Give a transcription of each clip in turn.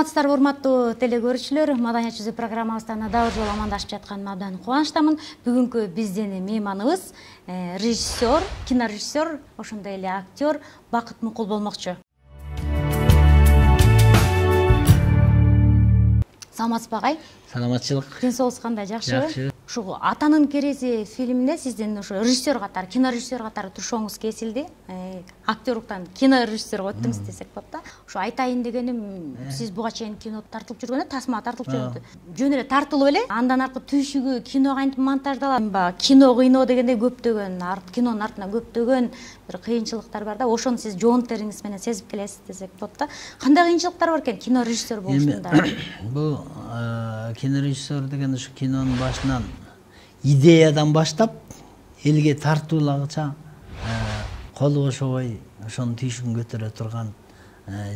Саламатсыздарбы урматтуу телекөрүүчүлөр, Маданият жүзү программабыздан дагы жолу амандашып жатканыма абдан кубанычтамын. Бүгүнкү биздин мейманыбыз режиссер, кинорежиссер, ошондой эле актер Бакыт Мукул болмокчу. Саламатсызбы агай? Саламатчылык. Ден соолугуңуз кандай, жакшыбы? Жакшы. Ушу Атанын керези фильминде сиздин ошо режиссер катары, кинорежиссер катары турушуңуз кесилди. Актерлуктан кинорежиссерге өттүңүз десек болот да. Ушу айтайын дегеним, сиз буга чейин кино тартылып жүргөндө, тасмага тартылып жүргөндө, жөн эле тартылып эле, андан аркы түйшүгү кино кантип монтаждалат, кино кыйноо дегенде көптөгөн, кинонун артынан көптөгөн бир кыйынчылыктар бар да. Ошону сиз жоон териңиз менен сезип келесиз десек болот да. Кандай кыйынчылыктар бар экен кинорежиссер болушунда? Бул кинорежиссер деген ушу кинонун башынан идеядан баштап элге тартуулагыча колу бошобой ошонун түйшүгүн көтөрө турган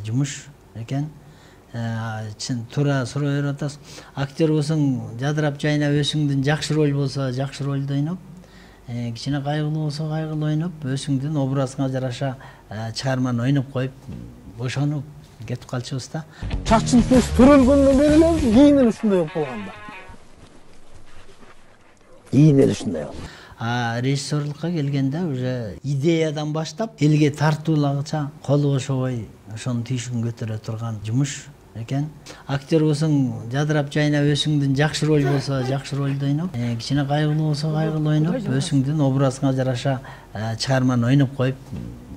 жумуш экен. Чын туура суроо берип атасыз. Актер болсоң, жадырап жайнап өзүңдүн жакшы роль болсо жакшы ролду ойноп, кичине кайгылуу болсо кайгылуу ойноп, өзүңдүн образыңа жараша чыгарманы ойноп коюп, бошонуп кетип калчубуз да. Чакчын көз төрөлгөндөн бери эле кийин эле ушундай болуп калган да. Кийин эле ушундай болду. Режиссерлукка келгенде уже идеядан баштап элге тартуулагыча колу бошобой ошонун түйшүгүн көтөрө турган жумуш экен. Актер болсоң, жадырап жайнап өзүңдүн жакшы роль болсо жакшы ролду ойноп, кичине кайгылуу болсо кайгылуу ойноп, өзүңдүн образыңа жараша чыгарманы ойноп коюп,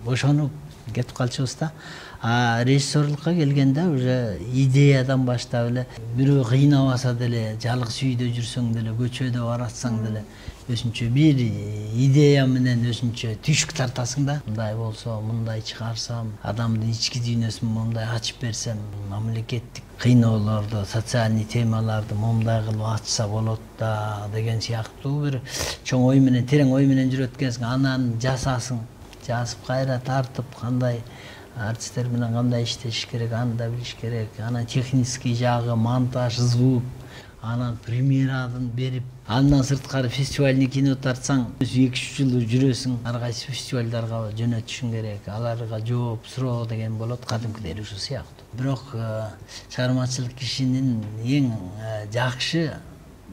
бошонуп кетип калчубуз да. Режиссерлукка келгенде уже идеядан баштап эле бирөө кыйнабаса деле, жалгыз үйдө жүрсөң деле, көчөдө баратсаң деле өзүнчө бир идея менен өзүнчө түйшүк тартасың да. Мындай болсо, мындай чыгарсам, адамдын ички дүйнөсүн мындай ачып берсем, мамлекеттик кыйноолорду, социальный темаларды мындай кылып ачса болот да деген сыяктуу бир чоң ой менен, терең ой менен жүрөт экенсиң. Анан жасасың, жазып кайра тартып, кандай артисттер менен кандай иштеш керек, аны да билиш керек. Анан технический жагы, монтаж, звук, анан премьерадан берип, андан сырткары фестивальный кино тартсаң, 2-3 жыл жүрөсүң, ар кайсы фестивалдарга жөнөтүшүң керек, аларга жооп суроо деген болот, кадимкидей ушул сыяктуу. Бирок чыгармачылык кишинин эң жакшы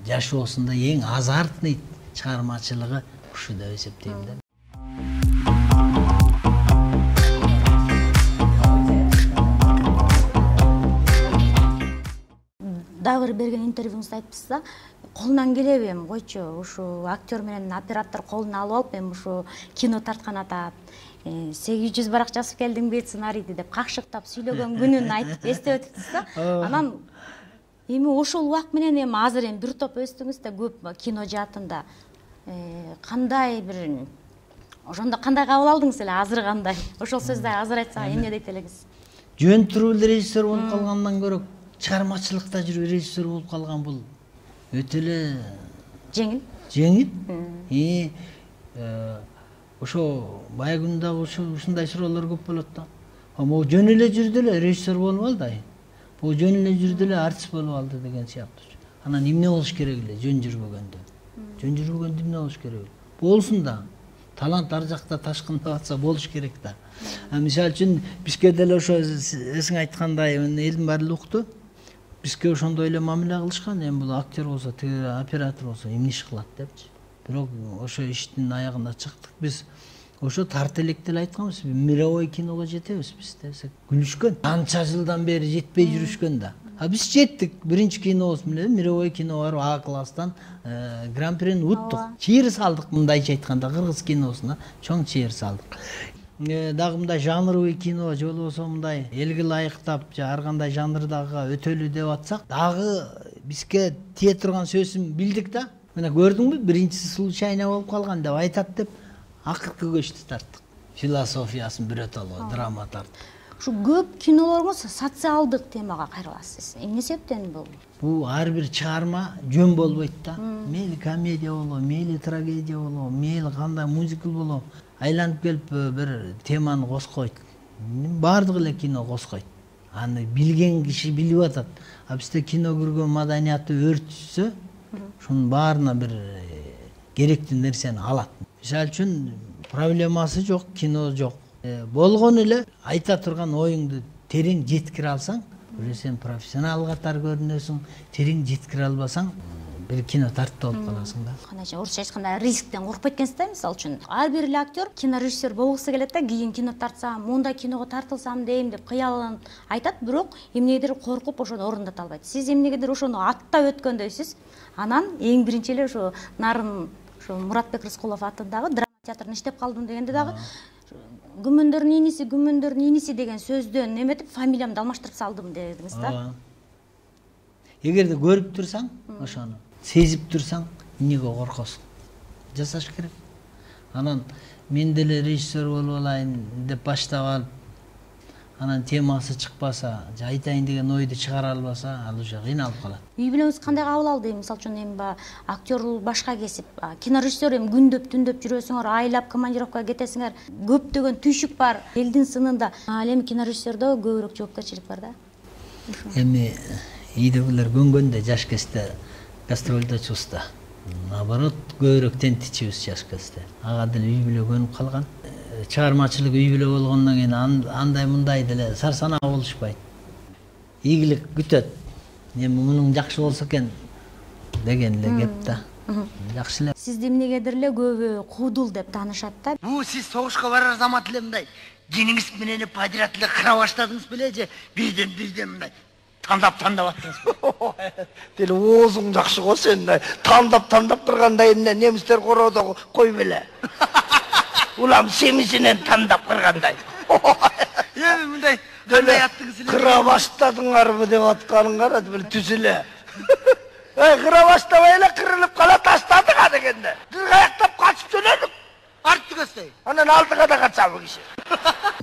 жашоосунда эң азартный чыгармачылыгы ушу деп эсептейм да. Дагы берген интервьюңузда айтыпсыз да, колунан келеби эми койчу, ушу актер менен оператор колуна алып алып, эми ушу кино тарткан атат, 800 барак жазып келдиңби сценарийди деп какшыктап сүйлөгөн күнүн айтып эстеп өтүптүз да. Анан эми ошол убак менен эми азыр эми бир топ өстүңүз да көп кино жаатында. Кандай бир ошондо кандай кабыл алдыңыз эле, азыр кандай? Ошол сөздү азыр айтсак эмне дейт элеңиз? Жөн туруп эле режиссер болуп калгандан көрө чыгармачылыкта жүрүп режиссер болуп калган бул өтө эле жеңил. Ошо бая күндө ушундай суроолор көп болот да. Могу жөн эле жүрдү эле режиссер болуп алды, бул жөн эле жүрдү эле артист болуп алды деген сыяктуу. Анан эмне болуш керек эле жөн жүрбөгөндө? Жөн жүрбөгөндө эмне болуш керек эле? Болсун да. Талант ар жакта ташкындап атса болуш керек да. Мисалы үчүн бизге деле ошо эсиң айткандай элдин баары эле укту. Бизге ошондой эле мамиле кылышкан, эми бул актер болсо, тиги оператор болсо эмне иш кылат депчи. Бирок ошо иштин аягына чыктык. Биз ошо тарт электе эле айтканбыз, мировой киного жетебиз биз десек. Күлүшкөн. Канча жылдан бери жетпей жүрүшкөн да. Биз жеттик. Биринчи кинобуз менен мировой кино барып А класстан гран-прини уттук. Чыйыр салдык, мындайча айтканда, кыргыз киносуна чоң чыйыр салдык. Дагы мындай жанровый кино же болбосо мындай элге ылайыктап, ар кандай жанрдагы өтөлү деп атсак, дагы бизге тие турган сөзүн билдик да. Мына көрдүңбү, биринчиси случайно болуп калган деп айтат деп акыркы көчтү тарттык. Философиясын бирөтөлө драма тарттык. Ушу көп кинолоруңуз социалдык темага кайрыласыз. Эмне себептен бул? Бул ар бир чыгарма жөн болбойт да. Мейли комедия болобу, мейли трагедия болобу, мейли кандай мюзикл болобу, айланып келип бир теманы коскойт. Баардык эле кино коскойт. Аны билген киши билип атат. Бизде кино көргөн маданияты өртүшсө, ушунун баарына бир керектүү нерсени алат. Мисалы үчүн проблемасы жок, кино жок. Болгон эле айта турган оюңду терең жеткире алсаң, уже сен профессионал катары көрүнөсүң, терең жеткире албасаң бир кино тартып алып каласың да. Канача орусча айтканда рисктен коркпойт экенсиз да, мисалы үчүн. Ар бир эле актер кинорежиссер болгусу келет да, кийин кино тартсам, мындай киного тартылсам дейм деп кыялын айтат, бирок эмнегедир коркуп ошону орундата албайт. Сиз эмнегедир ошону аттап өткөндөйсүз. Анан эң биринчи эле ошо Нарын Муратбек Рыскулов атындагы драма театрында иштеп калдым дегенде дагы күмөндөрдүн иниси деген сөздөн неметип фамилиямды алмаштырып салдым дедиңиз да. Эгерде көрүп турсаң, ошону сезип турсаң, эмнеге коркосуң? Жасаш керек. Анан мен деле режиссер болуп алайын деп баштап алып, анан темасы чыкпаса, же айтайын деген ойду чыгара албаса, ал уже кыйналып калат. Үй бүлөңүз кандай кабыл алды? Мисалы үчүн эми актер башка кесип, кинорежиссер эми күндөп түндөп жүрөсүңөр, айлап командировкага кетесиңер, көптөгөн түйшүк бар элдин сынында. Ал эми кинорежиссердө көбүрөөк жоопкерчилик бар да. Эми үйдөгүлөр көнгөндө жаш кезде гастролдо чуста. Наоборот, көбүрөөк тентичибиз жаш кезде. Ага деле үй бүлө көнүп калган. Чыгармачылык үй бүлө болгондон кийин андай мындай деле сарсанаа болушпайт. Ийгилик күтөт. Эми мунун жакшы болсо экен деген эле кеп да. Жакшы эле. Сизди эмнегедир эле көбү куудул деп таанышат да. Бу сиз согушка барар замат эле мындай кийиниңиз менен падират эле кыра баштадыңыз беле же бирден мындай тандап аттыңызбы? Деле оозуң жакшы го сен. Тандап турганда эмне немистер короодо кой беле. Улам семисинен тандап кыргандай. Эми мындай кандай аттыңыз эле? Кыра баштадыңарбы деп атканың карады, бир түзүлө. Кыра баштабай эле кырылып кала таштадык а дегенде. Биз каяктап качып жөнөдүк. Артты көздөй. Анан алдыга да качабы киши.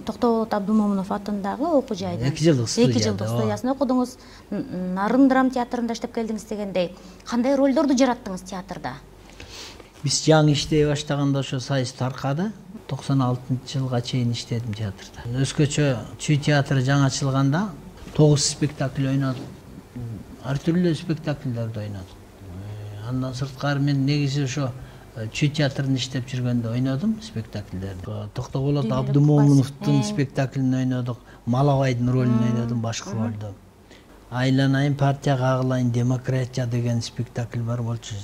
Токтоболот Абдумомунов атындагы окуу жайда 2 жылдык студиясында окудуңуз. Нарын драма театрында иштеп келдиңиз дегендей. Кандай ролдорду жараттыңыз театрда? Биз жаңы иштей баштаганда ошо сайыс таркады. 96-жылга чейин иштедим театрда. Өзгөчө Чүй театры жаңы ачылганда 9 спектакль ойнодум. Ар түрлүү спектакльдерди ойнодум. Андан сырткары мен негизи ошо Чүй театрында иштеп жүргөндө ойнодум спектакльдерди. Токтоболот Абдумомуновдун спектаклин ойнодук, Малабайдын ролун ойнодум башкы ролдо. Айланайын партияга кагылайын демократия деген спектакль бар болчу.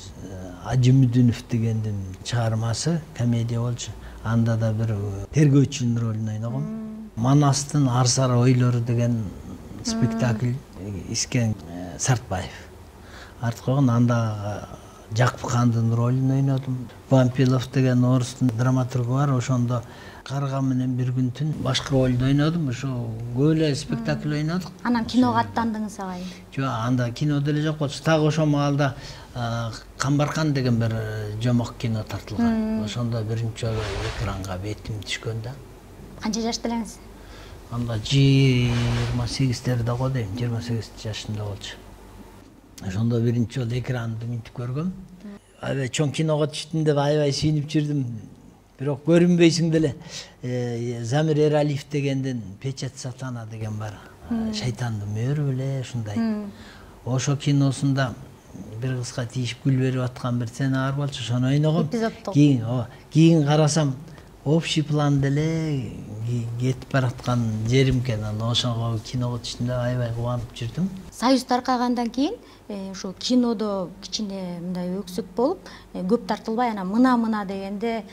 Ажымүдүнов дегендин чыгармасы, комедия болчу. Анда да бир тергөөчүнүн ролун ойногом. Манастын Арсара ойлору деген спектакль Искен Сартбаев. Арткогон анда Жакпыкандын ролун ойнодум. Вампилов деген орустун драматургу бар, ошондо Карга менен бир күн түн башкы ролду ойнодум. Ошо көп эле спектакль ойнодук. Анан киного аттандыңыз агай? Жок, анда кино деле жок болчу. Так ошол маалда Камбаркан деген бир жомок кино тартылган. Ошондо биринчи жолу экранга бетим түшкөн да. Канча жашта элеңиз? Анда 28-дерде го дейм, 28 жашында болчу. Ошондо биринчи жолу экранды минтип көргөм. Аябай чоң киного түштүм деп аябай сүйүнүп жүрдүм. Бирок көрүнбөйсүң деле. Замир Эралиев дегендин Печать Сатана деген бар. Шайтандын мөөрү беле ушундай. Ошо киносунда бир кызга тийишип гүл берип аткан бир сцена бар болчу, ошону ойногом. Кийин карасам общий план деле кетип бараткан жерим экен. Ошого киного түштүм аябай кубанып жүрдүм. Союз таркагандан кийин ошо кинодо кичине мындай өксүк болуп, көп тартылбай анан мына дегенде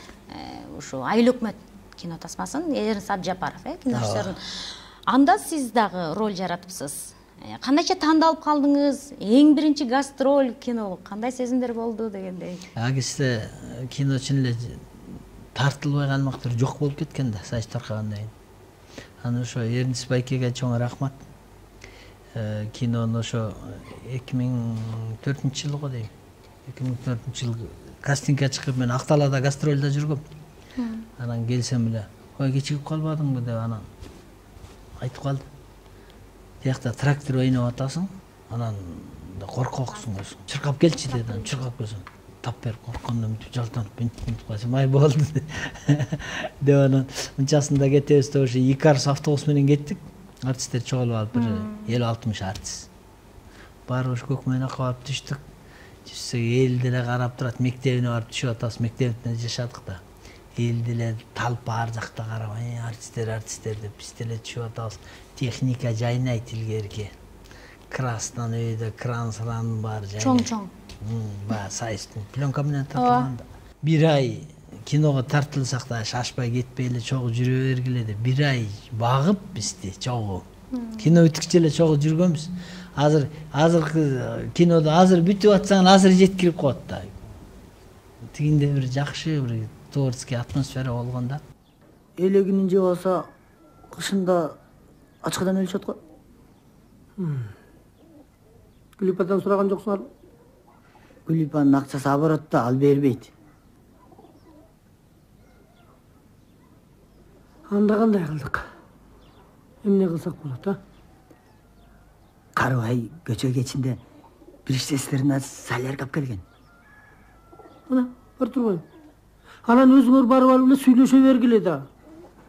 ошо Айыл өкмөт кино тасмасын Эрнст Абжапаров, кинорежиссердин. Анда сиз дагы роль жаратыпсыз. Кандайча тандалып калдыңыз? Эң биринчи гастроль кино кандай сезимдер болду дегендей. Агисте кино чын эле тартылбай калмактыр жок болуп кеткен да Союз таркагандан кийин. Анан ошо Эрнст Байкеге чоң рахмат. Кинону ошо 2004-жылы го дейм. 2004-жылы кастингге чыгып мен Акталада гастролдо жүргөм. Анан келсем эле, "Ой, кечигип калбадыңбы?" деп анан айтып калды. Тиякта трактор ойноп атасың, анан коркоксуң өзүң. Чыркап келчи деди, анан чыркап келсем, тап берип корккондон бүтүп жалтанып минтип калсам, "Ай болду" деп анан мынчасында кетебиз деп ошо 2 арс автобус менен кеттик. Артисттер чогулуп алып бир 50-60 артист. Баары ошо Көкмөйнакка барып түштүк. Түшсөк эл деле карап турат, мектебине барып түшүп атабыз, мектебинде жашадык да. Эл деле талп ар жакта карап, артисттер деп биз деле түшүп атабыз. Техника жайнайт илгерки. красдан өйдө кран сыранын баары чоң баягы сайыстын пленка менен тартылганда бир ай киного тартылсак да шашпай кетпей эле чогуу жүрө бергиле деп бир ай багып бизди чогуу кино бүткүчө эле чогуу жүргөнбүз. Азыркы кинодо азыр бүтүп атсаң азыр жеткирип коет да. Тигинде бир жакшы бир творческий атмосфера болгон да. Элегинин жеп алса кышында ачкадан өлүшөт го. Гүлипадан сураган жоксуңарбы? Гүлипанын акчасы оборотто, ал бербейт. Анда кандай кылдык? Эмне кылсак болот, а? Карыбай көчө кечинде бир иштестерине солярка алып келген. Мына, бар турбайбы? Анан өзүңөр барып алып эле сүйлөшө бергиле да.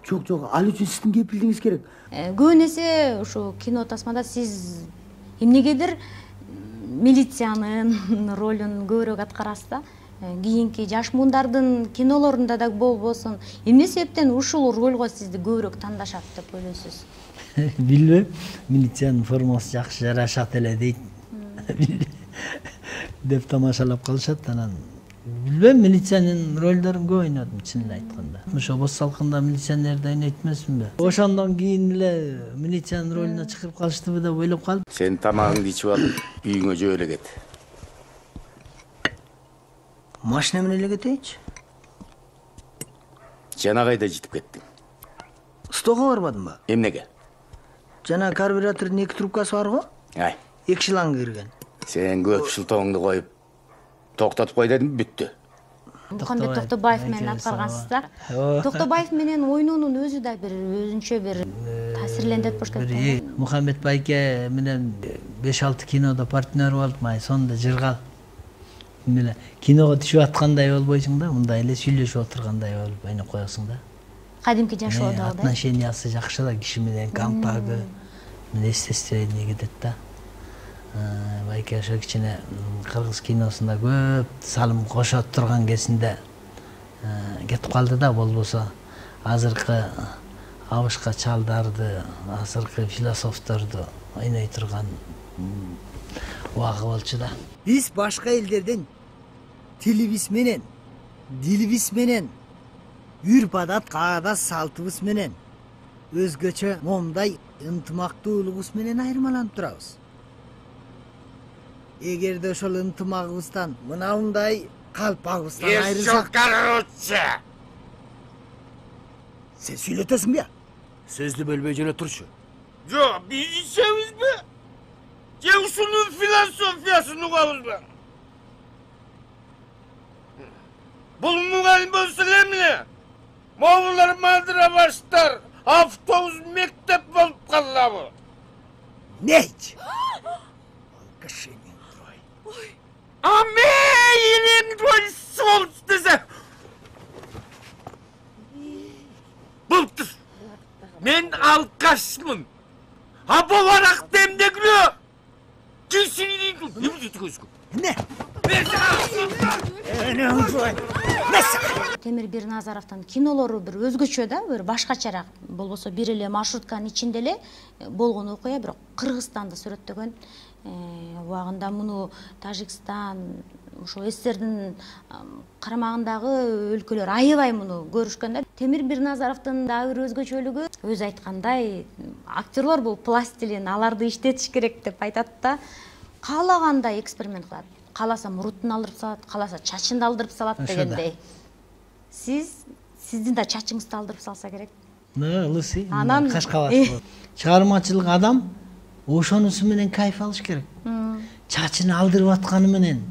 Жок, ал үчүн сиздин кепилдигиңиз керек. Көбүн эсе ушу кино тасмада сиз эмнегедир милициянын ролун көбүрөөк аткарасыз да. Кийинки жаш мундардын кинолорунда да болбосун эмне себептен ушул ролго сизди көбүрөөк тандашат деп ойлойсуз? Билбейм, милициянын формасы жакшы жарашат эле дейт деп тамашалап калышат. Анан билбейм, милициянын ролдорун көп ойнодум чынын айтканда. Ошо бос салкында милиционерди ойнойт эмесминби? Ошондон кийин эле милициянын ролуна чыгып калыштыбы деп ойлоп калдым. Сен тамагыңды ичип алып, үйүңө жөө эле кет. Машина менен эле кетейинчи. Жана кайда жетип кеттиң? Стого барбадымбы? Эмнеге? Жана карбюратордун 2 трубкасы бар го? Ай, 2 шланг кирген. сен көп шылтооңду коюп токтотуп кой дедим, бүттү. Мухаммед Токтобаев менен аткаргансыз да. Токтобаев менен ойноонун өзү да бир өзүнчө бир таасирлендирип болуш керек. Мухаммед байке менен 5-6 кинодо партнер болуп, май сонда жыргал. Мына киного түшүп аткандай болбойсуң да, мындай эле сүйлөшүп отургандай болуп ойноп коесуң да. Кадимки жашоодо да. Отношениясы жакшы да, киши менен контагы, естественно кетет да. Байке ошо кичине кыргыз киносунда көп салым кошот турган кезинде кетип калды да, болбосо азыркы абышка чалдарды, азыркы философторду ойной турган убагы болчу да. Биз башка элдерден тилибиз менен, дилибиз менен, үрп адат, каадат, салтыбыз менен өзгөчө момундай ынтымактуулугубуз менен айырмаланып турабыз. Эгерде ошол ынтымагыбыздан мынандай калпагыбыздан айрылсак, сен сүйлөтөсүңбү? Сөздү бөлбөй жөнө турчу. Жок, биз ичебизби? Же ушунун философиясын угабызбы? Бул мугалим болсо эле эмне? Моңулар мандыра баштар, автобус мектеп болуп калабы? Нейч? А мейин рольсу десе. Болуптур. Мен алкашмын. А боларак демдегиле. Кишини эмне көзгө? Эмне? Темир Бирназаровдун кинолору бир өзгөчө да, бир башкачараак. Болбосо бир эле маршрутканын ичинде эле болгон окуя, бирок Кыргызстанды сүрөттөгөн. Убагында муну Тажикстан, ошо СССРдин карамагындагы өлкөлөр аябай муну көрүшкөн да. Темир Бирназаровдун дагы бир өзгөчөлүгү, өзү айткандай, актерлор бул пластилин, аларды иштетиш керек деп айтат да. Каалагандай эксперимент кылат. Кааласа мурутун алдырып салат, кааласа чачын алдырып салат дегендей. Сиздин да чачыңызды алдырып салса керек. Лысый, кашкабат. Чыгармачылык адам ошонусу менен кайф алыш керек. Чачын алдырып атканы менен,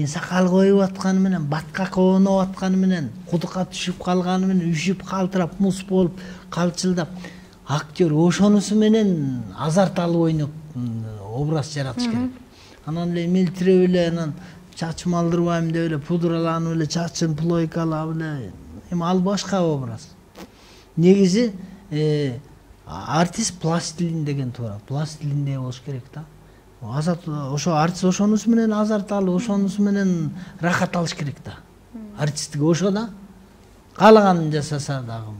сакал коюп атканы менен, баткак оноп атканы менен, кудукка түшүп калганы менен, үшүп калтырап, мус болуп, калчылдап, актер ошонусу менен азарт алып ойноп, образ жаратыш керек. Анан эле мелтирип эле, анан чачым алдырбайм деп эле, пудраланып эле, чачын плойкалап эле, эми ал башка образ. Негизи артист пластилин деген туура. Пластилиндей болуш керек да. Ошо артист ошонусу менен азарт алып, ошонусу менен рахат алыш керек да. Артисттик ошо да. Каалаганын жасаса дагы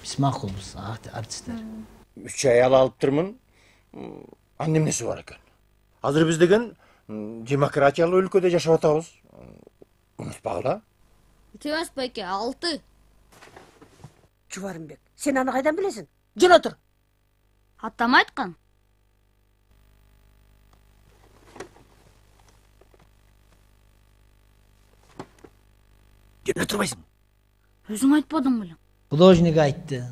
биз макулбуз артисттер. 3 ай алып турмун. Анын эмнеси бар экен? Азыр биз деген демократиялуу өлкөдө жашап атабыз. Унутпагыла. Темес байке, 6. Чубарымбек, сен аны кайдан билесиң? Жөн отур. Атам айткан. Жөн отурбайсың. Өзүң айтпадың белең? Художник айтты.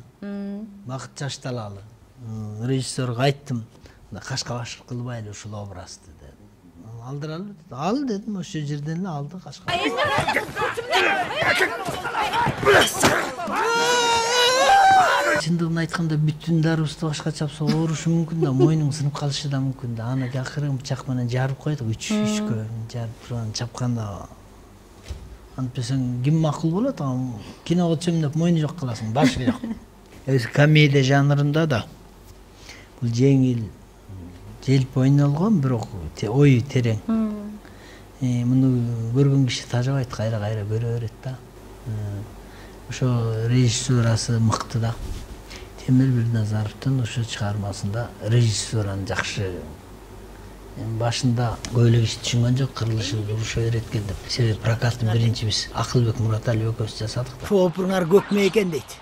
Бакыт Чашталалы. Режиссерге айттым. Кашка башыр кылбайлы ушул образды деди. Алдыралы деди. Ал дедим, ошол жерден эле алды Кашка. Чындыгын айтканда бүтүн дарыбызды башка чапса оорушу мүмкүн да, мойнуң сынып калышы да мүмкүн да. Аны акыры бычак менен жарып койдук, үчкө жарып турган чапканда. Антпесең ким макул болот? Киного түшөм деп мойну жок кыласың, башы жок. Комедия жанрында да бул жеңил, желп ойнолгон, бирок ою терең. Муну көргөн киши тажабайт, кайра көрө берет да. Ошо режиссурасы мыкты да. Темир Бирназаровдун ошо чыгармасында режиссураны жакшы. Башында көп эле киши түшүнгөн жок, кырылышы уруша берет экен деп. Себеби прокаттын биринчи биз Акылбек Мураталиев экөөбүз жасадык да. Шу опуруңар көкмө экен дейт.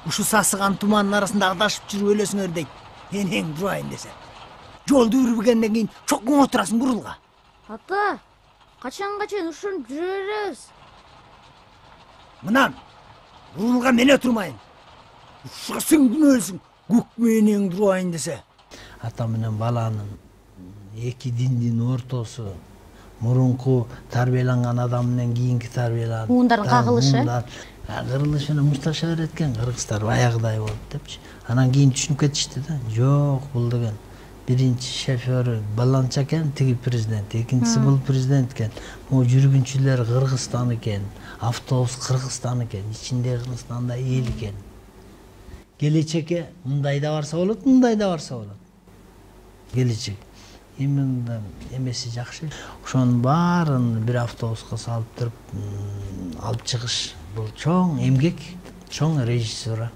Ушу сасыган тумандын арасында адашып жүрүп өлөсүңөр дейт. Энең турайын десе. Жолду үрбүгөндөн кийин чокуң отурасың бурулга. Ата, качанга чейин ушинтип жүрө беребиз? Мынан бурулга мен отурмайын. Ушуга сен ким өлсүң? Көкмө энең турайын десе. Ата менен баланын эки диндин ортосу, мурунку тарбияланган адам менен кийинки тарбияланган Муундардын кагылышы. Кырылыш менен мушташа берет экен, кыргыздар баягыдай болуп депчи. Анан кийин түшүнүп кетишти да. Жок, бул деген биринчи шофёру баланча экен, тиги президент, экинчиси бул президент экен. Могу жүргүнчүлөр Кыргызстан экен, автобус Кыргызстан экен, ичинде Кыргызстанда эл экен. Келечекке мындай да барса болот, мындай да барса болот. Келечек. Именно эмеси жакшы. Ошонун баарын бир автобуска салып туруп алып чыгыш. Бул чоң эмгек, чоң режиссура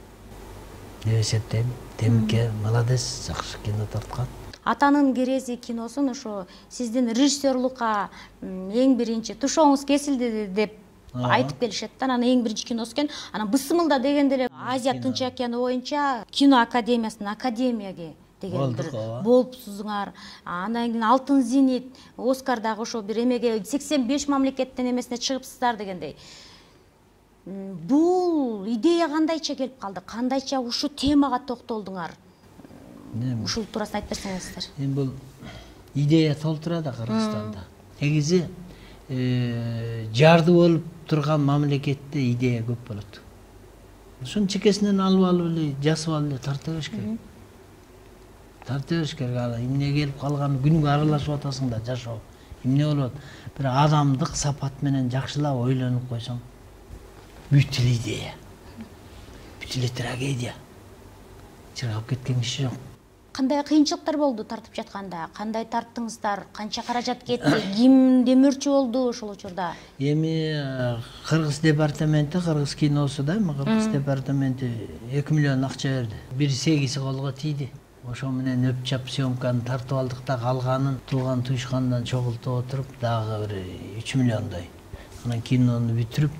деп эсептейм. Темирке молодец, жакшы кино тарткан. Атанын керези киносун ошо сиздин режиссерлукка эң биринчи тушоңуз кесилди деп айтып келишет да. Анан эң биринчи киносу экен. Анан Бысымылда дегенде эле Азия Тынч океаны боюнча кино академиясынын академияге деген бир болупсузуңар. Андан кийин Алтын зенит, Оскардагы ошо бир эмеге 85 мамлекеттен эмесине чыгыпсыздар дегендей. Бул идея кандайча келип калды? Кандайча ушу темага токтолдуңар? Ушул туурасында айтып берсеңиздер. Бул идея толтура да Кыргызстанда. Негизи жарды болуп турган мамлекетте идея көп болот. Ошонун чекесинен алып эле, жасып алып эле тарта бериш керек. Тарта бериш керек. Эмне келип калган күнгө аралашып атасың да жашоо. Эмне болот? Бир адамдык сапат менен жакшылап ойлонуп койсоң, бүт эле идея, бүт эле трагедия. Чыргап кеткен киши жок. Кандай кыйынчылыктар болду тартып жатканда? Кандай тарттыңыздар? Канча каражат кетти? Ким демөөрчү болду ошол учурда? Эми Кыргыз департаменти, Кыргыз киносу да, Кыргыз департаменти 2 миллион акча берди. Бир сегизи колго тийди. Ошо менен өпчап съемканы тартып алдык да, калганын тууган туюшкандан чогултуп отуруп дагы бир 3 миллиондой. Анан кинону бүтүрүп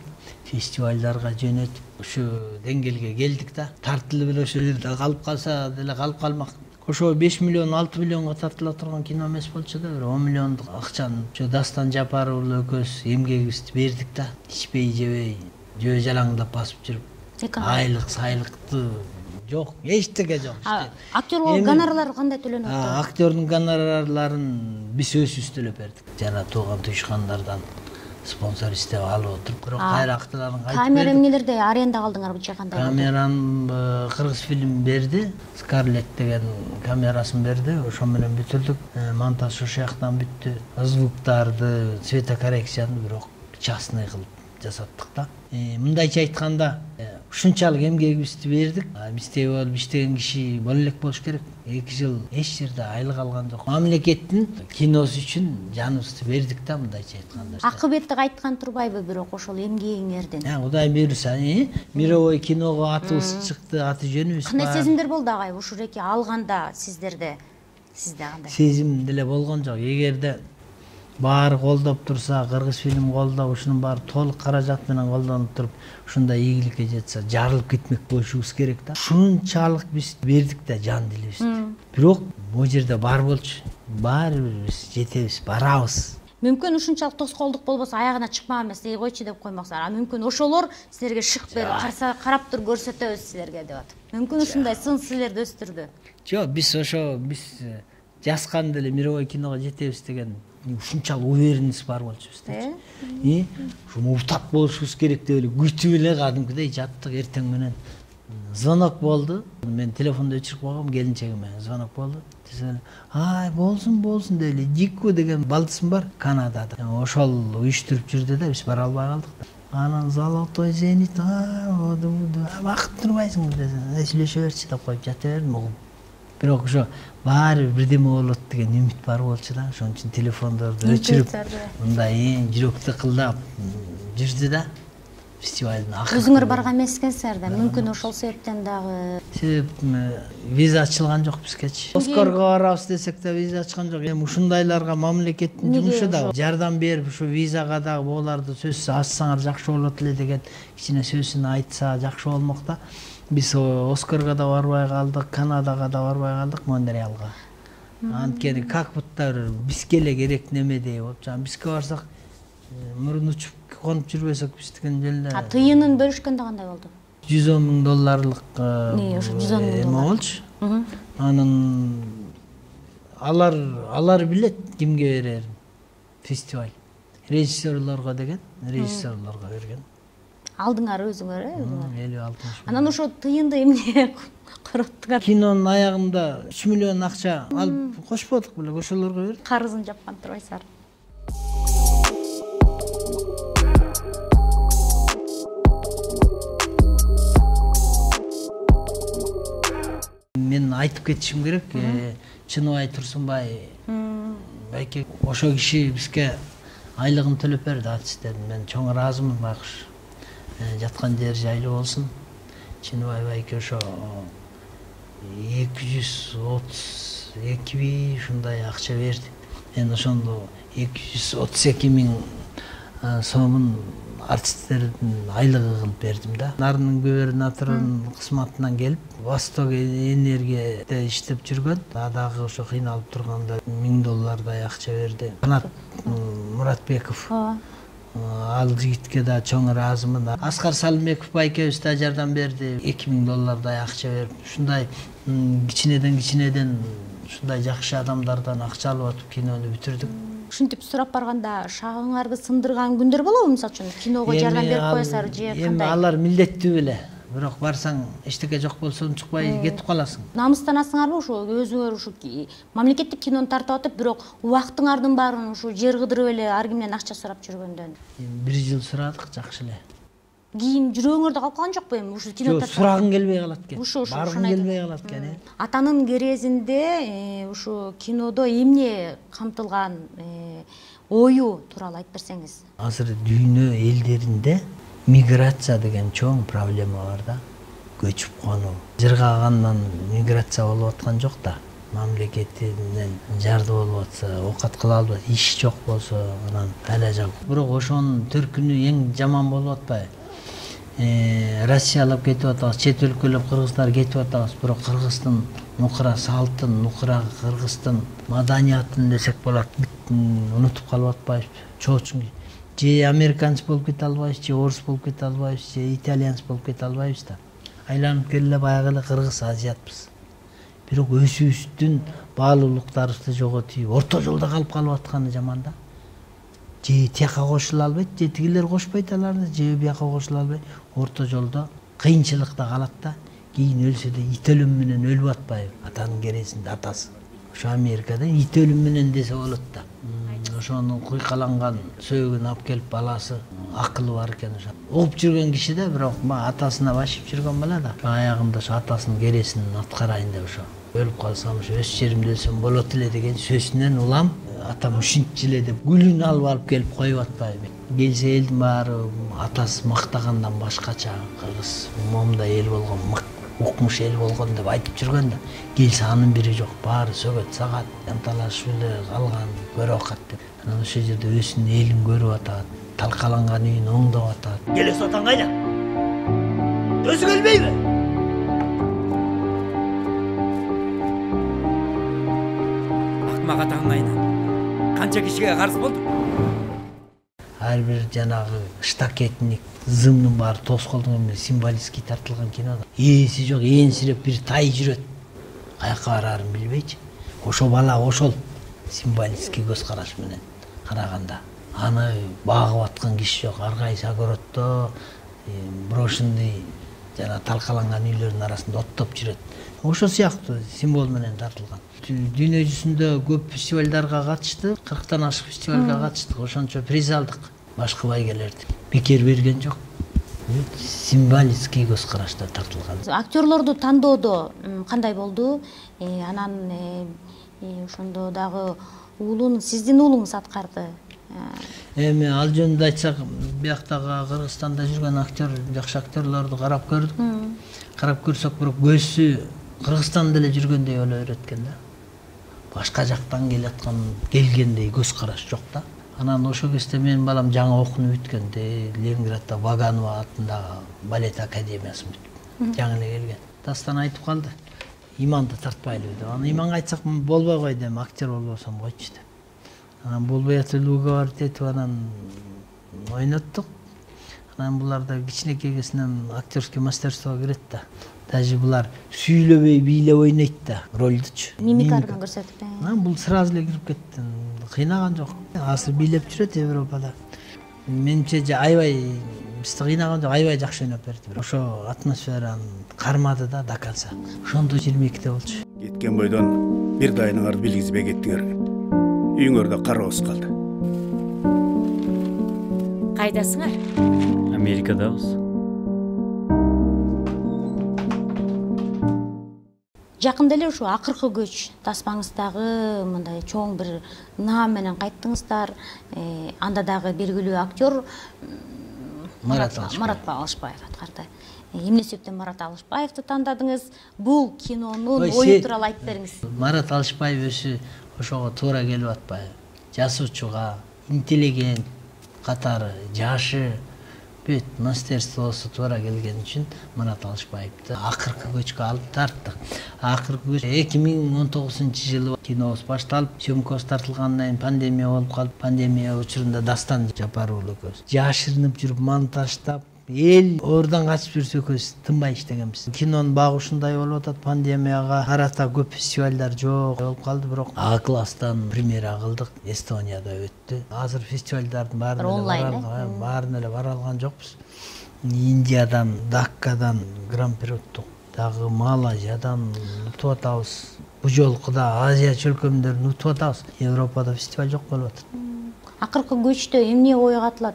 фестивалдарга жөнөтүп ушу деңгээлге келдик да. Тартылып эле ошол жерде калып калса деле калып калмак. Ошо 5 миллион, 6 миллионго тартыла турган кино эмес болчу да, бир 10 миллиондук акчаны ошо Дастан Жапаров уулу экөөбүз эмгегибизди бердик да. Ичпей жебей, жөө жалаңдап басып жүрүп, айлык сайлыкты жок, эчтеке жок. Актерлор гонорарлары кандай төлөнүп атат? Актерлордун гонорарларын биз өзүбүз төлөп бердик. Жана тууган туюшкандардан спонсор издеп алып отуруп, бирок кайра актерларын кайтып бердик. Камера эмнелерде аренда калдыңарбычы кандай? Камераны Кыргыз фильм берди, Скарлет деген камерасын берди, ошо менен бүтүрдүк. Монтаж ошол жактан бүттү. Звуктарды, цветокоррекцияны бирок частный кылып жасаттык да. Мындайча айтканда, ушунчалык эмгегибизди бердик. Бизде болуп иштеген киши боло элек болуш керек. 2 жыл эч жерде айлык алган жок. Мамлекеттин киносу үчүн жаныбызды бердик да, мындайча айтканда. Акыбетти кайткан турбайбы бирок ошол эмгегиңердин? Кудай буйруса, мировой киного атыбыз чыкты, аты жөнүбүз бар. Кандай сезимдер болду агай ушул эки алганда сиздерде? Сизде кандай? Сезим деле болгон жок. Эгерде баары колдоп турса, кыргыз фильм колдоп, ушунун баары толук каражат менен колдонуп туруп, ушундай ийгиликке жетсе, жарылып кетмек болушубуз керек да. Ушунчалык биз бердик да жан дилибизди. Бирок бул жерде бар болчу. Баары бир биз жетебиз, барабыз. Мүмкүн ушунчалык тоскоолдук болбосо аягына чыкмаган эмес, койчу деп коймоксуңар. Мүмкүн ошолор силерге шык берип, карап тур көрсөтөбүз силерге деп атат. Мүмкүн ушундай сын силерди өстүрдү. Жок, биз жазганда эле мировой киного жетебиз деген ушунчалык уверенность бар болчу бизде. Ушуну утап болушубуз керек деп эле күтүп эле кадимкидей жаттык. Эртең менен звонок болду. Мен телефонду өчүрүп койгом, келинчегиме звонок болду. Ай, болсун деп эле Дику деген балдысым бар Канадада. Ошол уюштуруп жүрдү да, биз бара албай калдык да. Анан золотой зенит, вакыт турбайсың десең, сүйлөшө берчи деп коюп жата бердим. Бирок ошо баары бирдеме болот деген үмүт бар болчу да. Ошон үчүн телефондорду өчүрүп, мындай жүрөктү кылдап жүрдү да. Фестивалдын акыры. Өзүңөр барган эмес экенсиңер да. Мүмкүн ошол себептен дагы. Себеп виза ачылган жок бизгечи. Оскарга барабыз десек да виза ачкан жок. Эми ушундайларга мамлекеттин жумушу да жардам берип, ушу визага дагы буларды сөзсүз ачсаңар жакшы болот эле деген кичине сөзүн айтса жакшы болмок да. Биз Оскарга да барбай калдык, Канадага да барбай калдык, Монреалга. Анткени как будто бизге эле керек немедей болуп, бизге барсак мурун учуп конуп жүрбөсөк биз деген жерде. Тыйынын бөлүшкөндө кандай болду? $110,000 ошо $110,000 болчу. Анан алар билет кимге берерин. Фестиваль режиссерлорго деген, режиссерлорго берген. Алдыңар өзүңөр, 50-60. Анан ошо тыйынды эмне короттуңар? Кинонун аягында 3 миллион акча алып кошподук беле, ошолорго бердик. Карызын жапкан турбайсыңар. Мен айтып кетишим керек, Чыныбай Турсунбай байке ошо киши бизге айлыгын төлөп берди, артисттердин. Мен чоң ыраазымын, байкуш. Жаткан жер жайлуу болсун. Чыныбай байке ошо 232 ушундай акча берди. Мен ошондо 232,000 сомун артисттердин айлыгы кылып бердим да. Нарынын губернаторунун кызматынан келип, Восток энергияда иштеп жүргөн. Дагы ошо кыйналып турганда $1000 акча берди. Канат Муратбеков. Ал жигитке да чоң ыраазымын. Аскар Салымбеков байкебиз да жардам берди. $2000 акча берип, ушундай кичинеден ушундай жакшы адамдардан акча алып атып кинону бүтүрдүк. Ушинтип сурап барганда шагыңарды сындырган күндөр болобу? Мисалы үчүн киного жардам берип коесаңар же кандай? Эми алар милдеттүү беле. Бирок барсаң эчтеке жок болсо унчукпай кетип каласың. Намыстанасыңарбы ушу өзүңөр ушу мамлекеттик кинону тартып атып, бирок убактыңардын баарын ушу жер кыдырып эле ар кимден акча сурап жүргөндөн? 1 жыл сурадык, жакшы эле. Кийин жүрөгүңөрдө калып калган жокпу эми ушу кино тартып? Сурагың келбей калат экен. Баргың келбей калат экен. Атанын керезинде ушу кинодо эмне камтылган ою тууралуу айтып берсеңиз. Азыр дүйнө элдеринде миграция деген чоң проблема бар да. Көчүп конуу. Жыргагандан миграция болуп аткан жок да. Мамлекетинен жарды болуп атса, оокат кыла албайт, иш жок болсо, анан эле жок. Бирок ошонун төркүнү эң жаман болуп атпайбы? Россиялап кетип атабыз, чет өлкөлөп кыргыздар кетип атабыз, бирок кыргыздын нукура салтын, нукура кыргыздын маданиятын десек болот, унутуп калып атпайбыз. Чоочун же американец болуп кете албайбыз, же орус болуп кете албайбыз, же итальянец болуп кете албайбыз да. Айланып келе баягы эле кыргыз азиатпыз. Бирок өзүбүздүн баалуулуктарыбызды жоготуп, орто жолдо калып атканы жаман да. Же тияка кошула албайт, же тигилер кошпойт аларды, же бияка кошула албайт. Орто жолдо кыйынчылыкта калат да. Кийин өлсө да ит өлүм менен өлүп атпайбы? Атанын кересинде атасы. Ошо Америкада ит өлүм менен десе болот да. Ошонун куйкаланган сөөгүн алып келип баласы акылы бар экен ошо. Угуп жүргөн киши да, бирок атасына башып жүргөн бала да. Аягында ошо атасынын кересин аткарайын деп ошо. Өлүп калсам ошо өз жеримде өлсөм болот эле деген сөзүнөн улам атам ушинчи эле деп гүлүн алып келип коюп атпайбы. Келсе элдин баары атасы мактагандан башкача кыргыз момундай эл болгон укмуш эл болгон деп айтып жүргөн да келсе анын бири жок, баары сөгөт сагат анталашып эле калган көрүп акат деп. Анан ошол жерде өзүнүн элин көрүп атат, талкаланган үйүн оңдоп атат. Келес атаң кайда? Өзү келбейби? Акмак атаң кайда? Канча кишиге карыз болду? Ар бир жанагы штакетник зымдын баары тоскоолдон менен символический тартылган кинода. Ээси жок, ээңсиреп бир тай жүрөт. Каяка бараарын билбейчи. Ошо бала ошол символический көз караш менен караганда аны багып аткан киши жок. Ар кайсы огороддо брошенный жана талкаланган үйлөрдүн арасында оттоп жүрөт. Ошол сыяктуу символ менен тартылган. Дүйнө жүзүндө көп фестивалдарга катышты, 40тан ашык фестивалга катыштык, ошончо приз алдык. Башкы байгелерди бекер берген жок. Символический көз карашта тартылган. Актерлорду тандоодо кандай болду? Анан ошондо дагы уулун, сиздин уулуңуз аткарды. Эми ал жөнүндө айтсак, бияктагы Кыргызстанда жүргөн актер, жакшы актерлорду карап көрдүк. Карап көрсөк, бирок көзсү Кыргызстанда эле жүргөндөй боло берет экен да. Башка жактан келгендей көз караш жок да. Анан ошол кезде менин балам жаңы окууну бүткөндө, Ленинградда Ваганова атындагы балет академиясын бүтүп, жаңы эле келген. Дастан айтып калды, иманды тартпайлы деп. Аны иманга айтсак болбой койду, эми актер болбосом койчу деп. Анан болбой атып уговаривать этип анан ойноттук. Анан булар да кичинекей кезинен актерский мастерствого кирет да. Даже булар сүйлөбөй бийлеп ойнойт да ролдучу. Мимиканы көрсөтүп. Анан бул сразу эле кирип кетти. Кыйнаган жок. Азыр бийлеп жүрөт Европада. Менимче аябай бизди кыйнаган жок, аябай жакшы ойноп берди. Ошо атмосфераны кармады да до конца. Ошондо 22-те болчу. Кеткен бойдон бир дайыңарды билгизбей кеттиңер. Үйүңөрдө карабыз калды. Кайдасыңар? Америкадабыз. Жакында эле ушу акыркы көч таспаңыздагы мындай чоң бир наам менен кайттыңыздар. Анда дагы белгилүү актер Марат Алышбаев аткарды. Эмне себептен Марат Алышбаевди тандадыңыз? Бул кинонун ою тууралуу айтып бериңиз. Марат Алышбаев өзү ошого туура келип атпайбы? Жасуучуга, интеллигент катары, жашы, бүт мастерствосу туура келген үчүн Марат Алышбаевди акыркы көчкө алып тарттык. Акыркы көч 2019-жылы кинобуз башталып, съемкасы тартылгандан кийин пандемия болуп калды. Пандемия учурунда Дастан Жапаров экөөбүз жашырынып жүрүп монтаждап, эл ордон качып жүрсө экөөбүз тынбай иштегенбиз. Кинонун багы ушундай болуп атат. Пандемияга карата көп фестивалдар жок болуп калды, бирок А класстан премьера кылдык. Эстонияда өттү. Азыр фестивалдардын баарына эле бара алган жокпуз. Индиядан, Даккадан гран-при уттук. Дагы Малайзиядан утуп атабыз. Бу жолку да Азия чөлкөмдөрүн утуп атабыз. Европада фестиваль жок болуп атат. Акыркы көчтө эмне ойго атылат?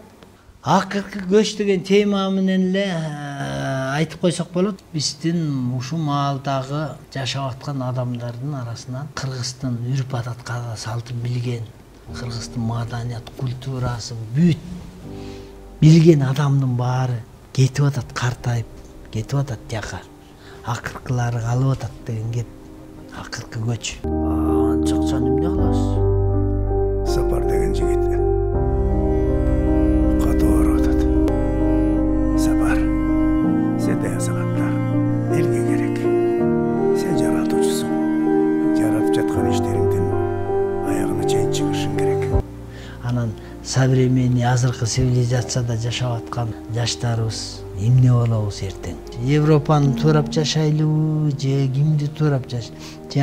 Акыркы көч деген тема менен эле айтып койсок болот. Биздин ушул маалдагы жашап аткан адамдардын арасынан кыргыздын үрп-адат, каада салтын билген, кыргыздын маданият, культурасын бүт билген адамдын баары кетип атат, картайып кетип атат жака. Акыркылары калып атат деген кеп. Акыркы көч. Чакчан эмне кыласыз? Сапар деген жигит катуу атат. Сапар, сен деген сагаттар элге керек. Сен жаратуучусуң. Жаратып жаткан иштериңдин аягына чейин чыгышың керек. Анан современный азыркы цивилизацияда жашап аткан жаштарыбыз эмне болобуз эртең? Европаны туурап жашайлыбы, же кимди туурап же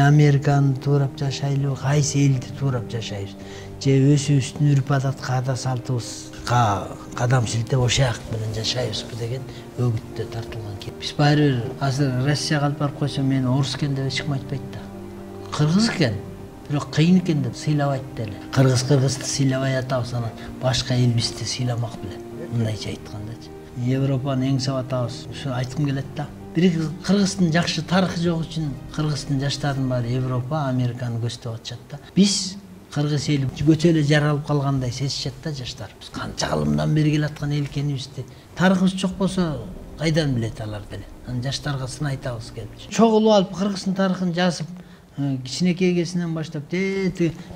Американы туурап жашайлыбы, кайсы элди туурап жашайбыз? Же өзүбүздүн үрп-адат, каада салтыбызга кадам силтеп ошол менен жашайбызбы деген өгүттө тартылган кеп. Биз баары бир азыр Россияга алып барып койсо мени орус экен деп эч ким айтпайт да. Кыргыз экен, бирок кыйын экен деп сыйлабайт деле. Кыргызды сыйлабай атабыз, анан башка эл бизди сыйламак беле. Мындайча айткандачы. Европаны эңсеп атабыз. Ушу айткым келет да. Бир Кыргыздын жакшы тарыхы жок үчүн Кыргыздын жаштарынын баары Европа, Американы көздөп атышат да. Биз Кыргыз эли өтө эле жаралып калгандай сезишет да жаштарыбыз. Канча кылымдан бери келаткан эл экенибизди. Тарыхыбыз жок болсо кайдан билет алар деле. Анан жаштарга сын айтабыз келип. Чогулуп алып Кыргыздын тарыхын жазып, кичинекей кезинен баштап,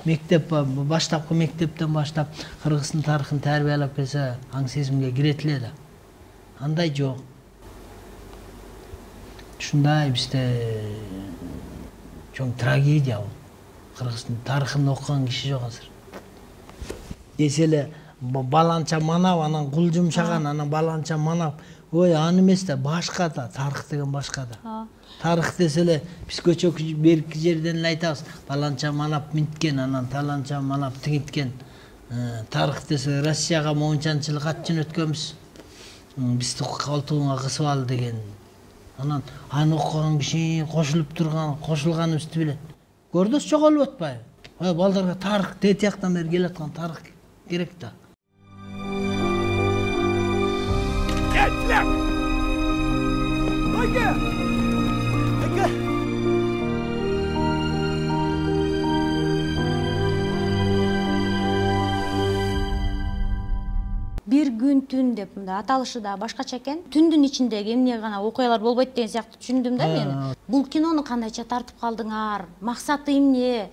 мектеп баштапкы мектептен баштап Кыргыздын тарыхын тарбиялап келсе, аң сезимге кирет эле да. Андай жок. Ушундай бизде чоң трагедия бул. Кыргыздын тарыхын окуган киши жок азыр. Десе эле баланча манап, анан кул жумшаган, анан баланча манап. Ой, аны эмес да, башка да, тарых деген башка да. Тарых десе эле биз көчө берки жерден эле айтабыз. Баланча манап минткен, анан таланча манап тигиткен. Тарых десе Россияга моунчанчылык ат жөнөткөнбүз. Бизди колтугуңа кысып ал деген. Анан аны окуган киши кошулганыбызды билет. Көрдөс жоголуп атпайбы? Балдарга тарых тетияктан бери келаткан тарых керек да. Бир күн түн деп мында аталышы да башкача экен. Түндүн ичиндеги эмне гана окуялар болбойт деген сыяктуу түшүндүм да мен. Бул кинону кандайча тартып калдыңар? Максаты эмне?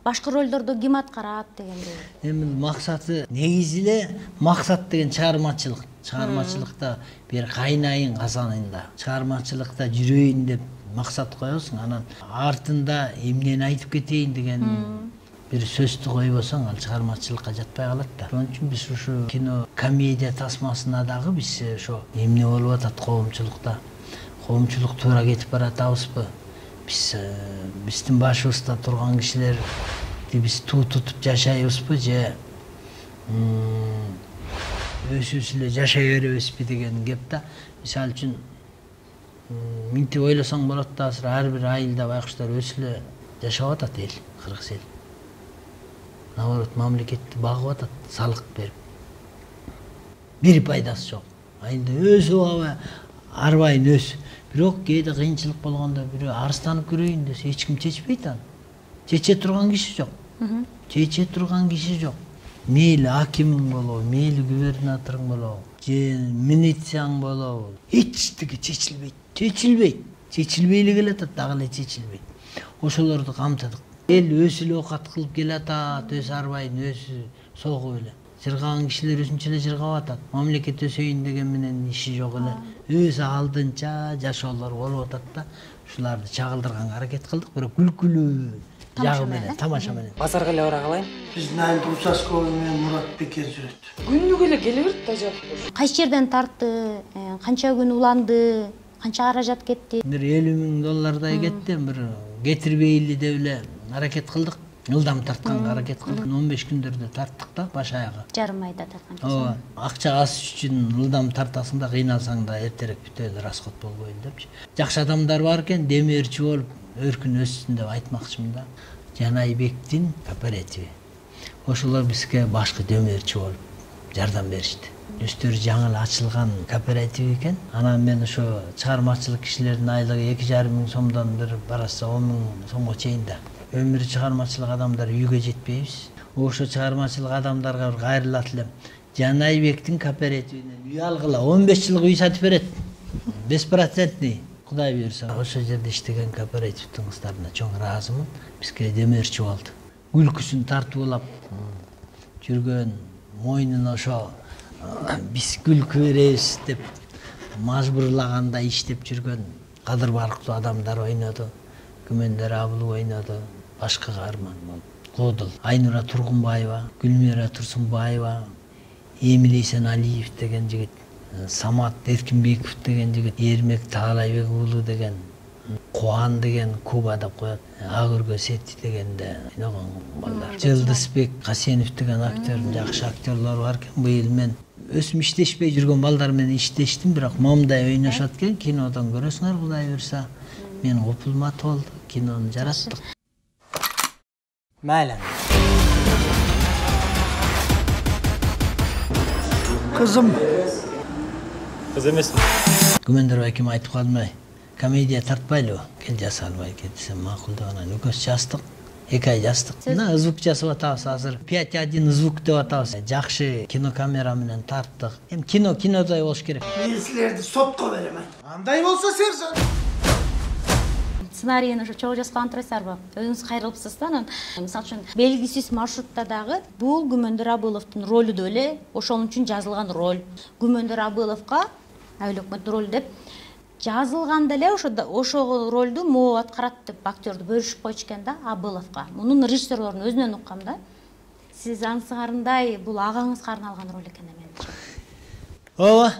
Башкы ролдорду ким аткарат дегендей. Эми максаты негизи эле максат деген чыгармачылык. Чыгармачылыкта бир кайнайын казанында, чыгармачылыкта жүрөйүн деп максат коесуң, анан артында эмнени айтып кетейин деген бир сөздү койбосоң, ал чыгармачылыкка жатпай калат да. Ошон үчүн биз ушу кино комедия тасмасына дагы биз ошо эмне болуп атат коомчулукта, коомчулук туура кетип баратабызбы? Биздин башыбызда турган кишилерди биз туу тутуп жашайбызбы же өзүбүз эле жашай беребизби деген кеп да. Мисалы үчүн минтип ойлосоң болот да, азыр ар бир айылда байкуштар өсүп эле жашап атат эл, кыргыз эл. Наоборот, мамлекетти багып атат, салык берип. Бир пайдасы жок. Айында өсүп албай, арбайын өс. Бирок кээде кыйынчылык болгондо бирөө арыстанып көрөйүн десе, эч ким чечпейт аны. Чече турган киши жок. Чече турган киши жок. Мейли акимиң болобу, мейли губернаторуң болобу, же милицияң болобу, эчтеке чечилбейт. Чечилбей эле келатат, дагы эле чечилбейт. Ошолорду камтыдык. Эл өз эле оокат кылып келатат, өз арбайын өзү согуп эле. Жыргаган кишилер өзүнчө эле жыргап атат. Мамлекет өсөйүн деген менен иши жок эле. Өз алдынча жашоолор болуп атат да. Ушуларды чагылдырганга аракет кылдык, бирок күлкүлүү жагы менен, тамаша менен. Базарга эле бара калайын. Биздин айылда участковый менен Мурат Бекер жүрөт. Күнүгө эле келе берет да жак. Кайсы жерден тартты, канча күн уланды, канча каражат кетти? Бир $50,000 кетти, бир кетирбейли деп эле аракет кылдык. Ылдам тартканга аракет кылдык. 15 күндөрдө тарттык да, баш аягы. Жарым айда тарткан. Ооба, акча аз үчүн ылдам тартасың да, кыйналсаң да эртерээк бүтөйлү, расход болбойлу депчи. Жакшы адамдар бар экен, демирчи болуп өркүн өссүн деп айтмакчымын да. Жанайбектин кооперативи. Ошолор бизге башкы демирчи болуп жардам беришти. Өздөрү жаңы эле ачылган кооператив экен. Анан мен ошо чыгармачылык кишилердин айлыгы 2,5 миң сомдон бир бараса 10 миң сомго чейин да. Өмүрү чыгармачылык адамдар үйгө жетпейбиз. Ошо чыгармачылык адамдарга бир кайрылат элем. Жанайбектин кооперативинен үй алгыла, 15 жылга үй сатып берет. Беспроцентный. Кудай буйрса, ошо жерде иштеген кооперативдин кыздарына чоң ыраазымын. Бизге демирчи болду. Күлкүсүн тартып алып жүргөн, мойнуна ошо биз күлкү беребиз деп мажбурлаганда иштеп жүргөн кадыр барктуу адамдар ойноду. Күмөндөр Абыл ойноду. Башка каарман болуп. Кодул, Айнура Тургунбаева, Гүлмира Турсунбаева, Эмил Эсеналиев деген жигит, Самат Эркинбеков деген жигит, Эрмек Таалайбек уулу деген, Кубан деген Куба деп коет, Агыргө Сети дегенде ойногон балдар. Жылдызбек Касенов деген актер, жакшы актерлор бар экен. Быйыл мен өсүм иштешпей жүргөн балдар менен иштештим, бирок момундай ойношот экен, кинодон көрөсүңөр Кудай буйрса. Мен Опулмат болду, кинону жараттык. Майлан. Кызым. Кыз эмесми? Күмөндөр байкем айтып калмай, комедия тартпайлыбы? Кел жаса албай десем макул деп анан экөөбүз жаздык. 2 ай жаздык. Мына звук жасап атабыз азыр. 5.1 звук деп атабыз. Жакшы кинокамера менен тарттык. Эми кинодай болуш керек. Мен силерди сотко берем. Андай болсо сержант. Сценарийни ошо чогуу жазган турасыздарбы? Өзүңүз кайрылыпсыз да анан. Мисалы үчүн белгисиз маршрутта дагы бул Күмөндөр Абыловдун ролу да эле ошол үчүн жазылган роль. Күмөндөр Абыловго айыл өкмөттүн ролу деп жазылганда эле ошол ролду могу аткарат деп актёрду бөлүшүп койчу экен да Абыловго. Мунун режиссерлорунун өзүнөн уккам да. Сиз аңсыгарындай бул агаңызга арналган роль экен менимче. Ооба.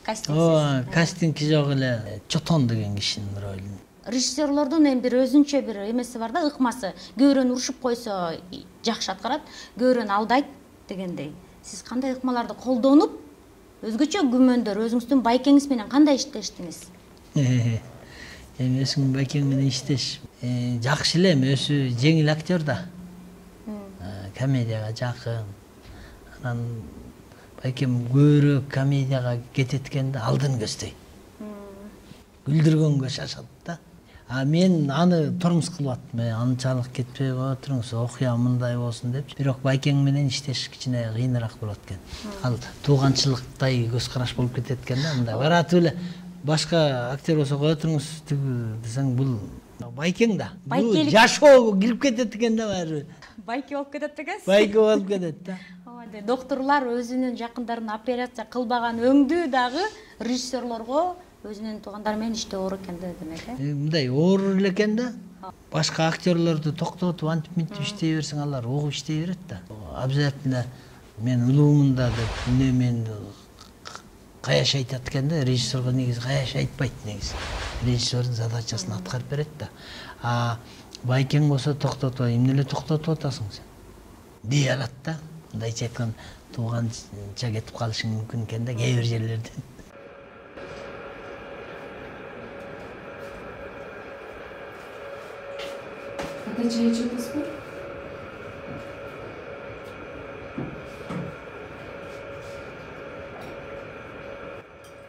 Кастинг. Кастинг жок эле Чотон деген кишинин ролу. Режиссерлордун эми бир өзүнчө бир эмеси бар да, ыкмасы. Көөрөнү урушуп койсо жакшы аткарат, көөрөнү алдайт дегендей. Сиз кандай ыкмаларды колдонуп, өзгөчө күмөндөр өзүңүздүн байкеңиз менен кандай иштештиңиз? Эми өзүм байкең менен иштеш жакшы эле, өзү жеңил актер да. Комедияга жакын. Анан байкем көбүрөөк комедияга кетет экен да, алдын көздөйт. Күлдүргөнгө шашат да. Мен аны турмуз кылып аттым. Анчалык кетпей кое туруңуз, окуя мындай болсун деп. Бирок байкең менен иштеш кичине кыйыныраак болот экен. Ал тууганчылыктай көз караш болуп кетет экен да. Мындай баратып эле башка актер болсо кое туруңуз десең бул байкең да. Бул жашоого кирип кетет экен да баары. Байке болуп кетет экенсиз? Байке болуп кетет да. Доктурлар өзүнүн жакындарын операция кылбаган өңдүү дагы режиссерлорго өзүнүн туугандары менен иштөө оор экен да демек. Мындай оор эле экен да. Башка актерлорду токтотуп антип мынтип иштей берсең алар угуп иштей берет да. Обязательно мен улуумун да деп мен каяш айтат экен да. Режиссерго негизи каяш айтпайт негизи. Режиссердун задачасын аткарып берет да. Байкең болсо токтотпой, эмне эле токтотуп атасың сен? Дей алат да. Мындайча айтканда тууганча кетип калышың мүмкүн экен да кээ бир жерлерде. Ата чай içiyorsunuz?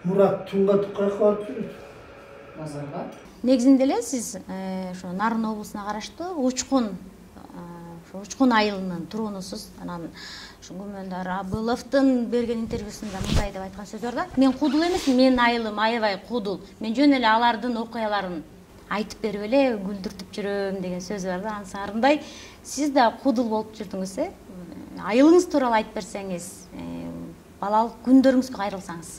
Мурат Тунга каяка барып жүрөт? Базарга. Негизинде эле сиз ошо Нарын облусуна караштуу Учкун айылынын тургунусуз. Анан ушу Күмөндөр Абыловдун берген интервьюсунда мындай деп айткан сөзү бар да. Мен кудул эмесмин, менин айылым аябай кудул. Мен жөн эле алардын окуяларын айтып берип эле күлдүртүп жүрөм деген сөзү бар да. Ансарындай сиз да кудул болуп жүрдүңүз, айылыңыз тууралуу айтып берсеңиз, балалык күндөрүңүзгө кайрылсаңыз.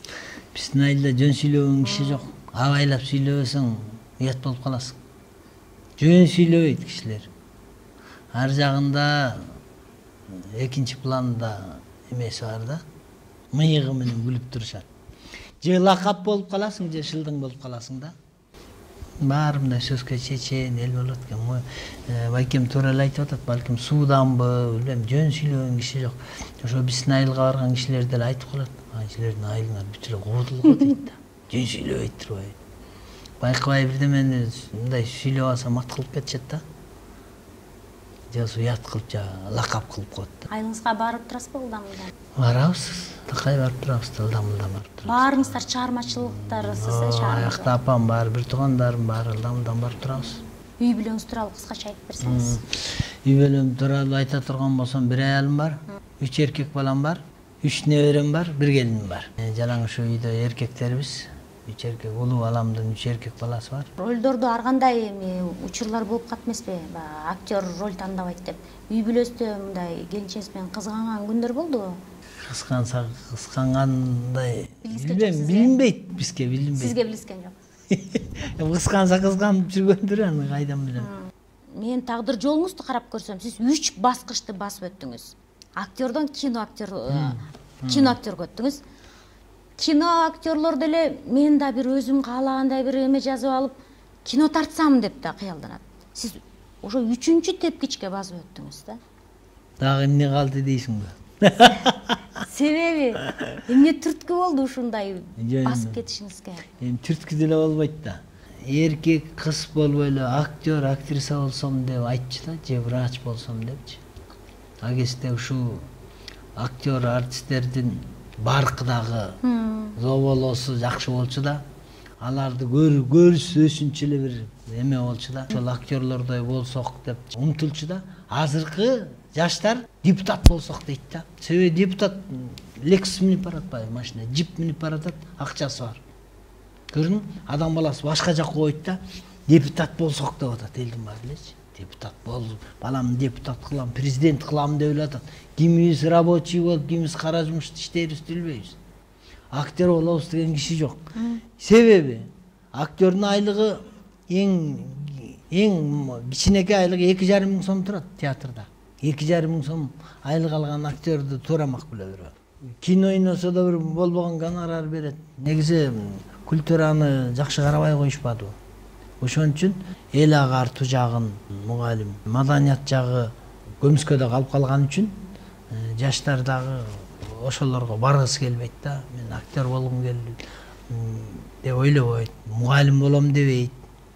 Биздин айылда жөн сүйлөгөн киши жок. Абайлап сүйлөбөсөң уят болуп каласың. Жөн сүйлөбөйт кишилер. Ар жагында экинчи планда эмеси бар да. Мыйыгы менен күлүп турушат. Же лакап болуп каласың, же шылдың болуп каласың да. Баары мындай сөзгө чечен эл болот экен. Байкем туура эле айтып атат, балким сууданбы, билбейм, жөн сүйлөгөн киши жок. Ошо биздин айылга барган кишилер деле айтып калат. Силердин айылыңар бүт эле куудул го дейт да. Жөн сүйлөбөйт турбайбы. Байкабай бирдемени мындай сүйлөп алса мат кылып кетишет да. Же уят кылып, же лакап кылып коет. Айылыңызга барып турасызбы ылдам-ылдам? Барабыз, такай барып турабыз, ылдам-ылдам барып турабыз. Баарыңыздар чыгармачылыктарысыз, Аякта апам бар, бир туугандарым бар, ылдам-ылдам барып турабыз. Үй бүлөңүз тууралуу кыскача айтып берсеңиз. Үй бүлөм тууралуу айта турган болсом, 1 аялым бар, 3 эркек балам бар, 3 неберем бар, 1 келиним бар. Жалаң ушу үйдө эркектербиз. 3 эркек, улуу баламдын 3 эркек баласы бар. Ролдордо ар кандай учурлар болуп калат эмеспи? Актер роль тандабайт деп. Үй бүлөстө мындай келинчеңиз менен кызганган күндөр болдубу? Кызгангандай билинбейт бизге, билинбейт. Сизге билискен жок. Кызганса кызганып жүргөндүр, аны кайдан билем. Мен тагдыр жолуңузду карап көрсөм, сиз 3 баскычты басып өттүңүз. Актердон кино актерге өттүңүз. Кино актерлор деле мен да бир өзүм каалагандай бир эме жазып алып, кино тартсам деп да кыялданат. Сиз ошо 3-чү тепкичке басып өттүңүз да. Дагы эмне калды дейсиңби? Себеби эмне түрткү болду ушундай басып кетишиңизге? Эми түрткү деле болбойт да. Эркек, кыз болбой эле актер, актриса болсом деп айтчу да, же врач болсом депчи. А кезде ушул актер, артисттердин баркы дагы зоболосу жакшы болчу да. аларды көрсөсүнчө эле бир эме болчу да, ошол актерлордой болсок деп умтулчу да. Азыркы жаштар депутат болсок дейт да. Себеби депутат Lexus минип баратпайбы, машина, джип минип баратат, акчасы бар. Көрдүңбү? Адам баласы башка жакка койт да, депутат болсок деп атат, элдин баары элечи. Депутат болуп, баламды депутат кылам, президент кылам деп эле атат. Кимибиз рабочий болуп, кимибиз кара жумушта иштейбизди билбейбиз. Актер болобуз деген киши жок. Себеби актердин айлыгы эң кичинекей айлыгы 2,5 миң сом турат театрда. 2,5 миң сом айлык алган актерди туура макул көрөт. Кино ойносо да бир болбогон гонорар берет. Негизи культураны жакшы карабай коюшпады. Ошон үчүн эл агартуу жагын мугалим, маданият жагы көмүскөдө калып калган үчүн жаштар дагы ошолорго баргысы келбейт да. Мен актер болгум келди деп ойлобойт. Мугалим болом дебейт.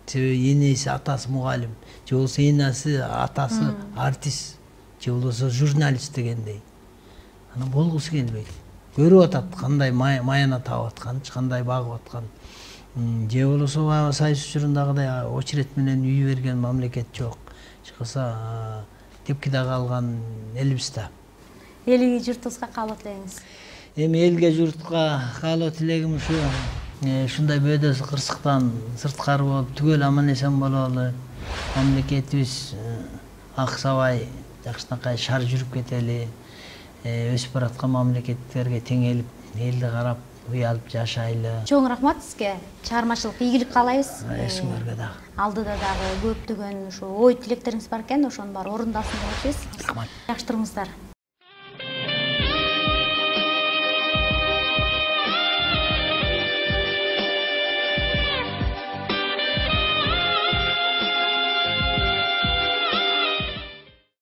Себеби энеси, атасы мугалим, же болбосо энеси, атасы артист, же болбосо журналист дегендей. Аны болгусу келбейт. Көрүп атат кандай маяна таап атканчы, кандай багып аткан. Же болбосо баягы сайыс учурундагыдай очерет менен үй берген мамлекет жок. Чыкса тепкиде калган элибиз да. Элге, журтубузга каалоо тилейиңиз. Эми элге, журтка каалоо тилегим ушу ушундай бөөдөсү кырсыктан сырткары болуп түгөл аман эсен бололу. Мамлекетибиз аксабай жакшынакай шар жүрүп кетели. Өсүп бараткан мамлекеттерге теңелип, элди карап, уялып жашайлы. Чоң рахмат сизге. Чыгармачылык ийгилик каалайбыз. Сиңерге дагы. Алдыда дагы көптөгөн ушу ой тилектериңиз бар экен, ошонун баары орундалсын деп атабыз. Рахмат. Жакшы туруңуздар.